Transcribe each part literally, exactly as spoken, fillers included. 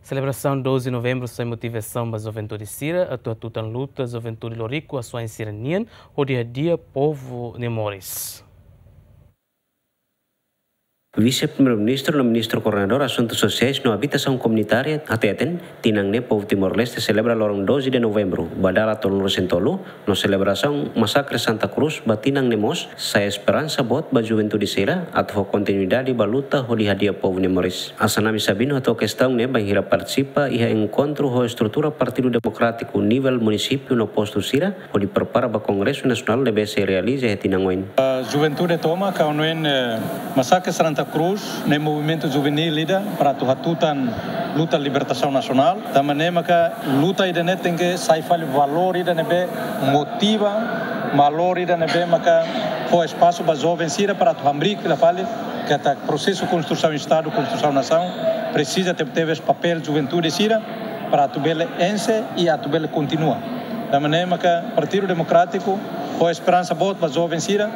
Selebrasaun doze de Novembru sai motivasaun ba juventude sira atu hatutan luta juventude Loriku Asuwa'in sira-nian hodi hadi'a povu nia moris. Vise-Primeiru-Ministru no Ministru Koordenadór Asuntu Sosiais no Abitasaun Komunitária hateten, tinan ne'e povu Timor-Leste selebra loron doze de Novembru, ba dala tolunulu-resin-tolu, no selebrasaun Masakre Santa Cruz ba tinan ne'e mós sai esperansa boot ba juventude sira atu fó kontinuidade ba luta hodi hadi'a povu nia moris. Assanami Sabino hato'o kestaun ne'e bainhira partisipa iha enkontru ho estrutura Partidu Demokrátiku nivel munisípiu no postu sira hodi prepara ba Kongresu Nasionál ne'ebé sei realiza iha tinan oin. Ah, juventude tomak hanoin, eh, Masakre Santa Cruz ne'e movimentu juvenil ida para atu hatutan luta libertasaun nasionál. Tanba ne'e maka luta ida-ne'e tenke sai fali valór ida ne'ebé motiva, valór ida ne'ebé maka fó espasu ba joven sira para atu hamriik fila fali katak prosesu konstrusaun Estadu, konstrusaun nasaun presiza tebetebes papél juventude sira para atu bele enxe i atu bele kontinua. Tanba ne'e maka Partidu Demokrátiku fó esperansa boot ba joven sira,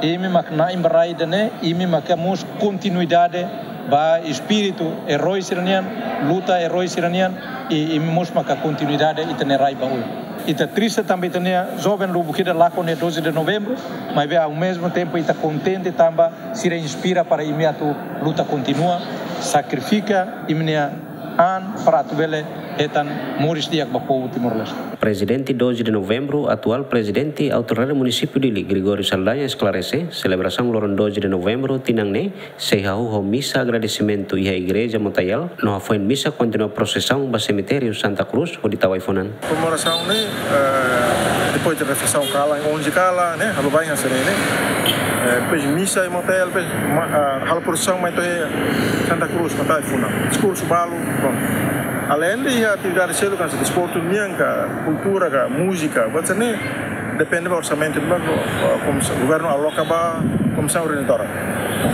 imi mak na'in ba rai ida-ne'e, imi mak mós kontinuidade ba espíritu eroi sira-nian, luta eroi sira-nian, i imi mós maka kontinuidade ita-nia rai ba oin. Ita triste tanba ita-nia joven lubuk ida lakon iha doze de Novembru, maibé ao mesmo tempo ita kontente tanba sira inspira para imi atu luta kontinua, sakrifika imi-nia an para atu bele hetan moris di'ak ba povu Timor-Leste. Prezidente doze de Novembru, atuál Prezidente Autoridade Munisípiu Dili, Gregório Saldanha, esklarese, selebrasaun loron doze de Novembru tinan ne'e sei hahú ho misa agradesimentu iha Igreja Motayal, no hafoin misa kontinua prosesaun ba semitériu Santa Cruz hodi tau ai-funan. Komemorasaun ne'e, eh, depois de refeisaun kalan, onze kalan, ne'e, halo baibain hanesan ne'e, ne'e. Eh, depois misa iha Motayal, depois ma-, ah, halo prosesaun mai to'o Santa Cruz, mai tau ai-funan. Diskursu balu, bom. Além de atividade seluk, hanesan desportu nian ka, kultura ka, múzika, buat hanesan ne'e, depende ba orsamentu ne'ebé, ah, komisaun, governu aloka ba komisaun organizadora.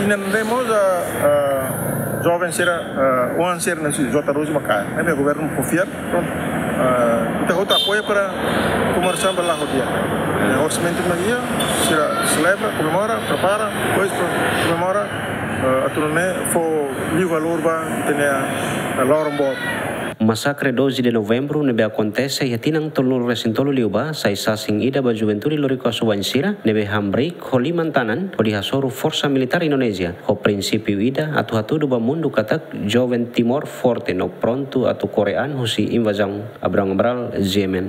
I ne'e mós, ah, ah, joven sira, ah, oan sira ne'e sei jota rozi ba kaer. Ne'ebé governu konfia, prontu. Ah, ita hotu apoia para komemorasaun bele la'o di'ak. Eh, orsamentu ne'ebé iha, sira selebra, komemora, prepara, depois, prontu, komemora, ah, atu nune'e fó liu valór ba ita-nia, ah, loron boot. Masakre doze de Novembru ne'ebé akontese iha tinan tolunulu-resin-tolu liubá, sai sasin ida ba juventude Loriku Asuwa'in sira ne'ebé hamriik ho liman-tanan hodi hasoru forsa militár Indonézia ho prinsípiu ida atu hatudu ba mundu katak joven Timor forte no prontu atu kore an husi invazaun. Abrão Cabral, G M N.